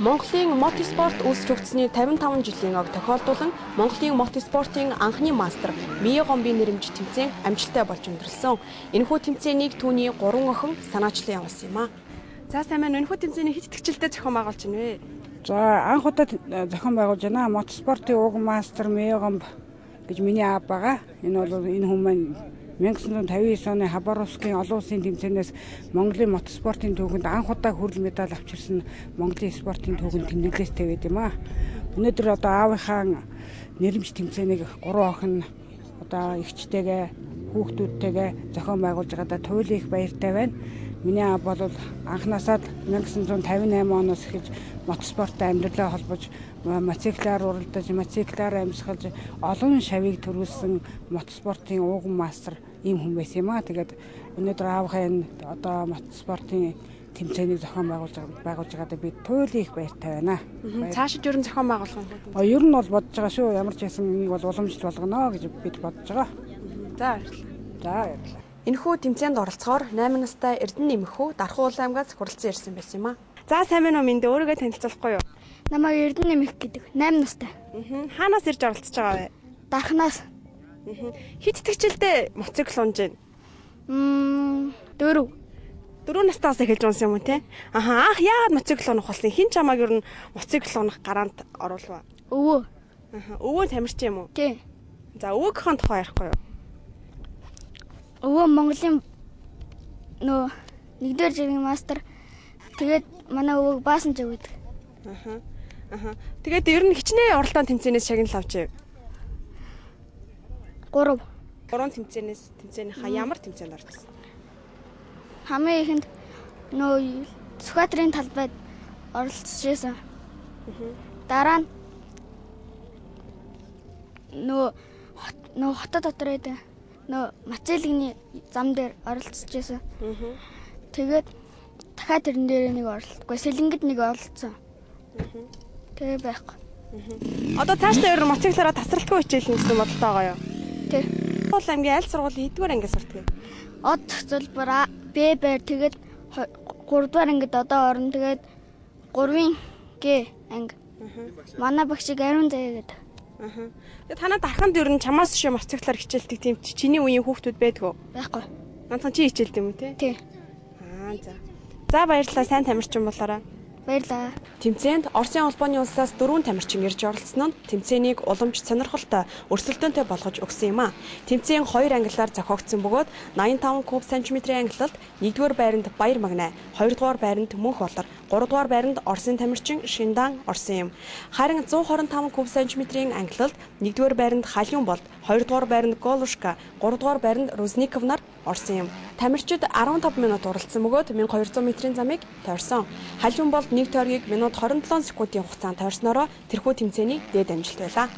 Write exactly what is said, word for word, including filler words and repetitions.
Монголын мотоспорт үүсч өгцсөний тавин таван жилийн ог тохиолдуулан Монголын мотоспортын анхны мастер Мие Гомбын нэрэмж тэмцээн амжилттай болж өндөрлсөн. Энэхүү тэмцээнийг түүний гурван охин санаачлан явуулсан юм а. За сайн байна. Энэхүү тэмцээний хэд тэтгчилтэй зохион байгуулж байна вэ? За анх удаа зохион байгуулж байна. Мотоспортын уг мастер Мие Гомб гэж миний аав байгаа. Энэ бол энэ хүн маань мянга санаа тавин девять оны Хабаровскийн олон улсын тэмцээнээс Монголын мотоспортын түүхэнд анх удаа хүрэл медаль авчирсан Монголын спортын түүхэнд тэмдэглэлтэй байд юм аа. Өнөөдөр одоо аавынхаа нэрэмж тэмцээнийг гурван охин одоо эгчтэйгээ хүүхдүүдтэйгээ зохион байгуулж байгаадаа туйлын их баяртай байна. Миний аав бол анхнаасаа мянга санаа тавин восемь оноос эхэлж мотоспорттой амьдралаа холбож мотоциклаар уралдаж, мотоциклаар амьсгалж олон шавийг төрүүлсэн мотоспортын ууган мастер ийм хүн байсан юм аа. Тэгээд өнөөдөр аавынхаа энэ одоо мотоспортын тэмцээнийг зохион байгуулж байгуулж байгаадаа би туйлын их баяртай байна. Цаашид ер нь зохион байгуулах юм бол? А ер нь бол бодож байгаа шүү. Ямар ч байсан энийг бол уламжлалт болгоно гэж бид бодож байгаа. За баярлалаа. За баярлалаа. Энэхүү тэмцээнд оролцохоор восемь настай Эрдэнэ нэмэхүү Дархан улаан аймгаас хүрэлцэн ирсэн байсан юм а. За сайн байна уу минь өөрийгөө танилцуулахгүй юу? Намайг Эрдэнэ нэмэх гэдэг восемь настай. Аа. Хаанаас ирж оролцож байгаа вэ? Дарханаас. Аа. Хэд тэтгчилтэй мотоцикл унж байна? Мм дөрөв. Дөрөв настаас эхэлж унсан юм уу те? Аха анх яагаад мотоцикл унах болсон? Хин ч чамааг ер нь мотоцикл унах гараанд оруулав. Өвөө. Аха өвөө тамирч юм уу? Тий. За өвөөгийнхөө тухай ярихгүй юу? Өвөө Монголын нөө нэгдүгээр жирийн мастер. Тэгээд манай өвөөг баасан ч өгдөг. Аха. Аха. Тэгээд ер нь хичнээн оролдоон тэмцээнээс шагнал авч яв. Гурав. Гурван тэмцээнээс тэмцээнийхаа ямар тэмцээнд орсон? Хамгийн ихэнд нөө Сүхбаатарын талбайд оролцож байсан. Дараа нь нөө нөө хотод дотор байдаг нөө Мацэлгийн зам дээр оролцож байсан. Тэгээд дахиад тэрэн дээр нэг оролцохгүй, Сэлэнгэд нэг оролцсон. Тэгээ байхгүй. Одоо цаашдаа ер нь мотоциклаараа тасралтгүй хичээлнэ гэсэн бодолтой байгаа юу? Тий. Бол аймгийн аль сургуулийн хэдгээр ангиас сурдаг вэ? Од зөвлбөр Б бэр тэгээд гурав дахь ангид одоо орно. Тэгээд гурвын Г анги. Манай багшиг ариун заяа гэдэг. Аа. Тэгээд танаа дарханд ер нь чамаас шиг мотоциклаар хичээлдэг тийм чиний үеийн хүүхдүүд байдгүй? Байхгүй. Ганцхан чи хичээлдэг юм уу те? Тий. Аа за. За баярлалаа, сайн тамирчин болоорой. Баярлалаа. Тэмцээнд Оросын улбооны улсаас дөрвөн тамирчин ирж оролцсон нь тэмцээнийг уламж сонирхолтой, өрсөлдөөнтэй болгож өгсөн юм а. Тэмцээн хоёр ангиллаар зохиогдсон бөгөөд восемьдесят пять куб сантиметрийн ангиллалд нэгдүгээр байранд Баяр Магнай, хоёрдугаар байранд Мөнх Болор, гуравдугаар байранд Оросын тамирчин Шиндан орсон юм. Харин one twenty five куб сантиметрийн ангиллалд нэгдүгээр байранд Халиун Болд, хоёрдугаар байранд Голушка, гуравдугаар байранд Рузников нар орсон юм. Тамирчид fifteen минут уралдсан бөгөөд twelve hundred метрийн замыг тойрсон. Халиун Болд нэг тойргийг минут twenty seven секундын хугацаанд тойрсноороо тэрхүү тэмцээний дээд амжилт байлаа.